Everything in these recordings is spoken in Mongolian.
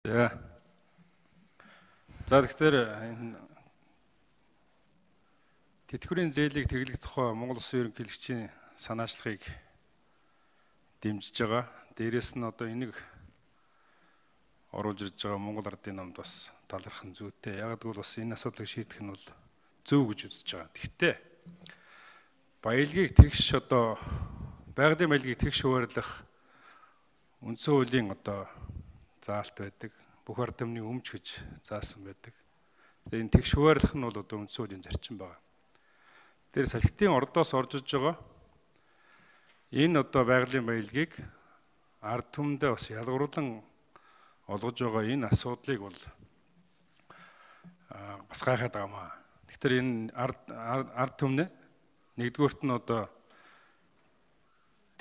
За. За тэгэхээр энэ тэтгэврийн зээлийг тэглэх тухай Монгол Улсын ерөнхийлөгчийн санаачлагыг дэмжиж байгаа. Дээрээс нь одоо энийг оруулж ирж байгаа Монгол Ардын номд бас талархах зүйтэй. Яг гэвэл бас энэ асуудлыг шийдэх нь бол зөв гэж үзэж байгаа. Гэхдээ баялагийг тэгш одоо байгалийн баялагийг тэгш хуваарлах үндсэн хуулийн одоо заалт байдаг. Бүх ард түмний өмч гэж заасан байдаг. Тэгээ энэ тэгш хуваарлах нь бол одоо үндсэн хуулийн зарчим байна. Тэр салхитын ордоос орж иж байгаа энэ одоо байгалийн баялагийг ард түмэндээ бас ялгаруулан олгож байгаа энэ асуудлыг бол бас гайхаад байгаамаа. Тэгэхээр энэ ард түмнээ нэгдүгüүрт нь одоо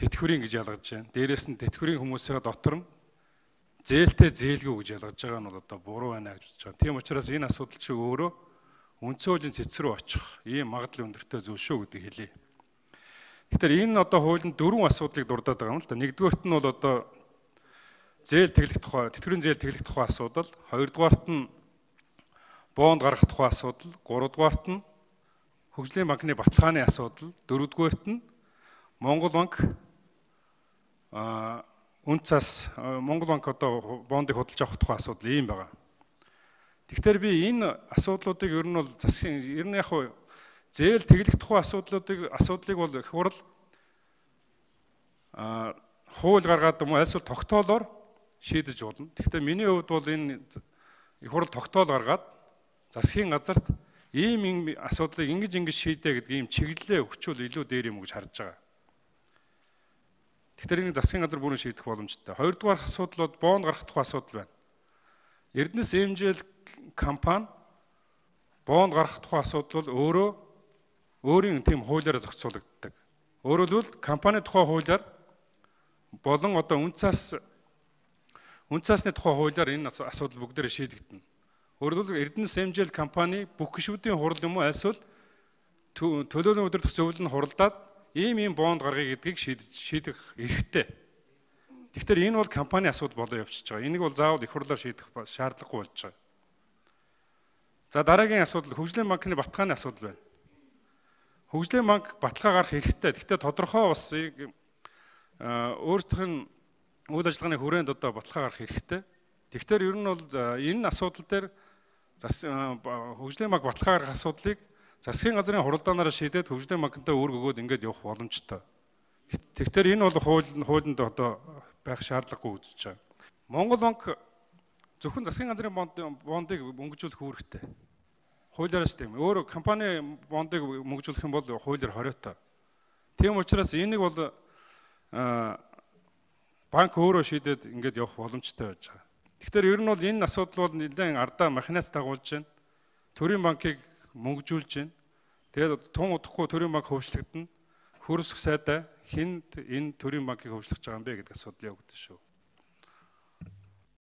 тэтгэврийн гэж ялгаж байна. Дээрээс нь тэтгэврийн хүмүүсийн дотор нь зээлтэй зээлгүй гэж ялгаж байгаа нь бол одоо буруу байна гэж үзэж байгаа. Тийм учраас энэ асуудал чи өөрөө үндсэн хуулийн цэц рүү очих ийм магадлал өндөртэй зүйл шүү гэдгийг хэлье. Тэгэхээр энэ одоо хуулийн дөрвөн асуудлыг дурдаад байгаа юм л да. Нэгдүгüүрт нь бол одоо зээл тэглэх тухай, тэтгэврийн зээл тэглэх тухай асуудал, хоёрдугаарт нь бонд гаргах тухай асуудал, гуравдугаарт нь хөгжлийн банкны баталгааны асуудал, дөрөвдүгээрт нь Монгол банк Монгол банк одоо бондыг худалдаж авах тухай асуудал ийм байгаа. Тэгэхээр би энэ асуудлуудыг ер нь бол засгийн ер нь яг зээл тэглэх тухай асуудлыг бол их хурл хууль гаргаад юм эсвэл тогтоолоор шийдэж болно. Гэхдээ миний хувьд бол энэ их хурл тогтоол гаргаад засгийн газарт ийм асуудлыг ингэж шийдэ гэдэг ийм чиглэлээ өгчүүл илүү дээр юм гэж харж байгаа. Тэгэхээр энэ засгийн газар бүрэн шийдэх боломжтой. Хоёрдугаар асуудал бол бонд гаргах тухай асуудал байна. Эрдэнэс эмжээл компани бонд гаргах тухай асуудал бол өөрийн тийм хуулиараа зохицуулагддаг. Өөрөөр хэлбэл компани тухай хуулиар болон одоо үнцасны тухай хуулиар энэ асуудал бүгдээрээ шийдэгдэнэ. Өөрөөр хэлбэл Эрдэнэс эмжээл компани бүх гишүүдийн хурал юм уу эсвэл төлөөний өдөртөх зөвлөл нь хуралдаад ийм бонд гаргая гэдгийг шийдэх эрхтэй. Тэгэхээр энэ бол компани асуудал болоо явчихж байгаа. Энийг бол заавал их хурлаар шийдэх шаардлагагүй болж байгаа. За дараагийн асуудал хөгжлийн банкны баталгааны асуудал байна. Хөгжлийн банк баталгаа гаргах эрхтэй. Гэхдээ тодорхой бас өөрсдийнх нь үйл ажиллагааны хүрээнд одоо баталгаа гаргах эрхтэй. Тэгэхээр ер нь бол энэ асуудал дээр хөгжлийн банк баталгаа гаргах асуудлыг засгийн газрын хуралдаанаараа шийдээд хөгжлийн банктай үүрэг өгөөд ингэж явах боломжтой. Тэгэхээр энэ бол хуулинд одоо байх шаардлагагүй үзэж байгаа. Монгол банк зөвхөн засгийн газрын бондыг мөнгөжүүлэх үүрэгтэй. Хуулиараа ч тийм. Өөр компани бондыг мөнгөжүүлэх юм бол хуулиар хориотой. Тийм учраас энийг бол банк өөрөө шийдээд ингэж явах боломжтой байж байгаа. Тэгэхээр ер нь бол энэ асуудал бол нэлээд ардаа махинаас дагуулж байна. Төрийн банкыг мөнгөжүүлж байна. Тэгээд тун удахгүй төрийн банк хөвчлөгдөнө. Хөрсөх сайдаа хинд энэ төрийн банкыг хөвчлөж байгаа юм бэ гэдэг асуудал явагдаж шүү.